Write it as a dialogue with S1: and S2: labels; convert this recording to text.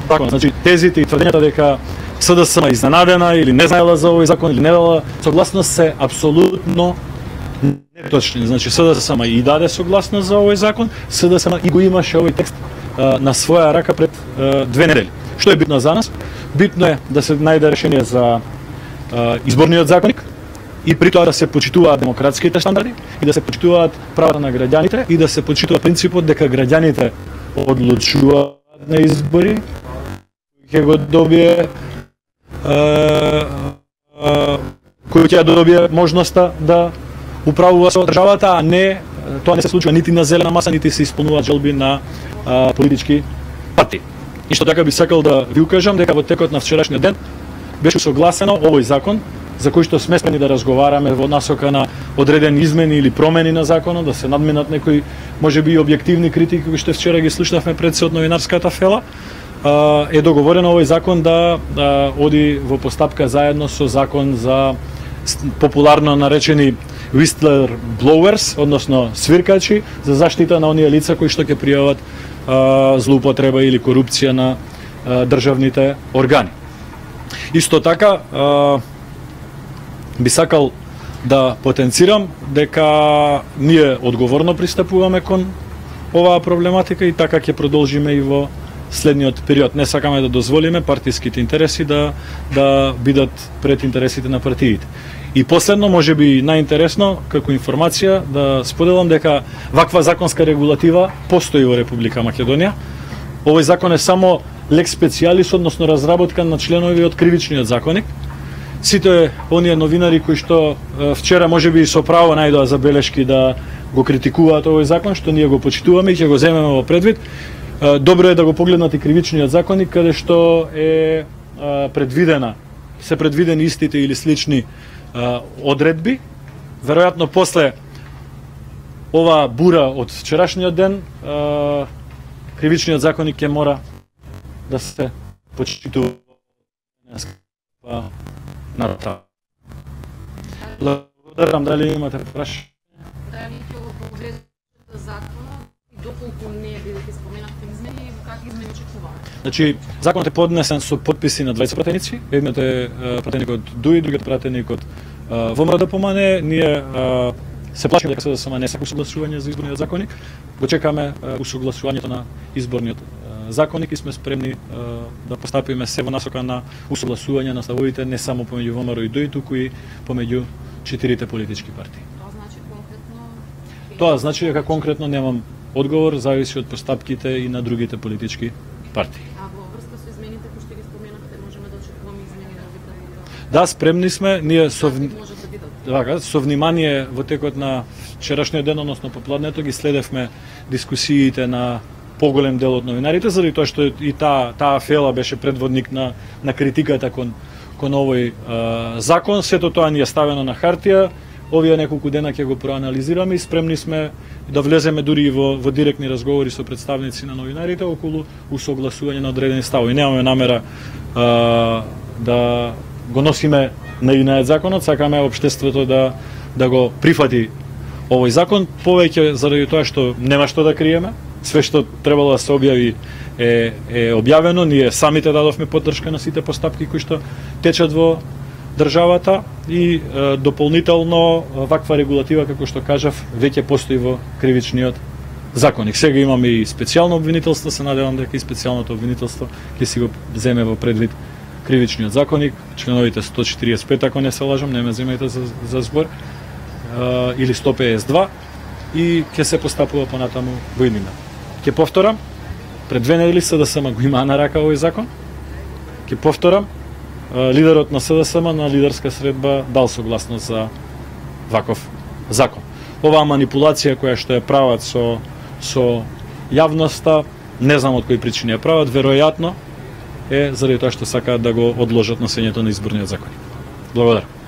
S1: закон. Значи тезите и тврдењата дека СДСМ изненадена или не знаела за овој закон или не дала согласност се апсолутно неточни. Значи СДСМ и даде согласност за овој закон, СДСМ и го имаше овој текст на своја рака пред 2 недели. Што е битно за нас? Битно е да се најде решение за изборниот законник и при тоа да се почитуваат демократските стандарди и да се почитуваат правата на граѓаните и да се почитува принципот дека граѓаните одлучуваат на избори, ќе го добие кој ќе добие можноста да управува со државата, а не тоа не се случува нити на зелена маса, нити се исполнуваат желби на политички партии. И што така би сакал да ви укажам дека во текот на вчерашниот ден беше согласено овој закон за кој што сме спремни да разговараме во насока на одредени измени или промени на законот, да се надминат некои можеби и објективни критики кои што вчера ги слушнавме пред се од новинарската фела. Е договорено овој закон да оди во постапка заедно со закон за популарно наречени whistler blowers, односно свиркачи, за заштита на оние лица кои што ќе пријават злоупотреба или корупција на државните органи. Исто така би сакал да потенцирам дека ние одговорно пристапуваме кон оваа проблематика и така ќе продолжиме и во следниот период. Не сакаме да дозволиме партиските интереси да бидат пред интересите на партиите. И последно, можеби најинтересно, како информација, да споделам дека ваква законска регулатива постои во Република Македонија. Овој закон е само лекс специјалис, односно разработка на членови од кривичниот законник. Сите оние новинари кои што вчера можеби со право најдоа забелешки да го критикуваат овој закон, што ние го почитуваме и ќе го земеме во предвид, добро е да го погледнат и кривичниот законник, каде што е се предвидени истите или слични одредби. Веројатно после ова бура од вчерашниот ден, кривичниот законник ќе мора да се почитува на таа. Благодарам, дали имате прашање?
S2: Дали ќе го погледнете законот и доколку не бидете споменавте измени и какви измени очекувате?
S1: Значи, законот е поднесен со подписи на 20 пратеници. Едниот е пратеник од ДУИ, другиот пратеник од ВМРО-ДПМН. Ние се плашиме дека СДСМ не сака усогласување за изборниот законник. Го чекаме усогласувањето на изборниот законник и сме спремни да постапиме се во насока на усогласување на ставовите не само помеѓу ВМРО и ДУИ, туку и помеѓу 4 политички партии. Тоа значи дека конкретно немам одговор, зависи од постапките и на другите политички партии.
S2: А во врска со измените кои што ги споменавте, можеме да очекуваме измени на овие?
S1: Да, спремни сме, ние со внимание во текот на вчерашниот ден, односно попладнето, ги следевме дискусиите на поголем дел од новинарите, заради тоа што и таа фела беше предводник на критиката кон овој закон. Сето тоа ни е ставено на хартија. Овие неколку дена ќе го проанализираме и спремни сме да влеземе дури и во директни разговори со представници на новинарите околу усогласување на одредени ставови. Немаме намера да го носиме наивниот законот, сакаме општеството да го прифати овој закон, повеќе заради тоа што нема што да криеме. Све што требало да се објави е објавено. Ние самите дадовме поддршка на сите постапки кои што течат во државата и дополнително ваква регулатива, како што кажав, веќе постои во кривичниот законник. Сега имаме и специјално обвинителство, се надевам дека и специјалното обвинителство ќе си го земе во предвид кривичниот законник, членовите 145, ако не се лажам, не ме земајте за збор, или 152, и ќе се постапува понатаму во иднина. Ќе повторам, пред 2 недели СДСМ го има на рака овој закон. Ќе повторам, лидерот на СДСМ на лидерска средба дал согласност за ваков закон. Оваа манипулација која што ја прават со јавноста, не знам од кои причини ја прават, веројатно е заради тоа што сакаат да го одложат носењето на изборниот закон. Благодарам.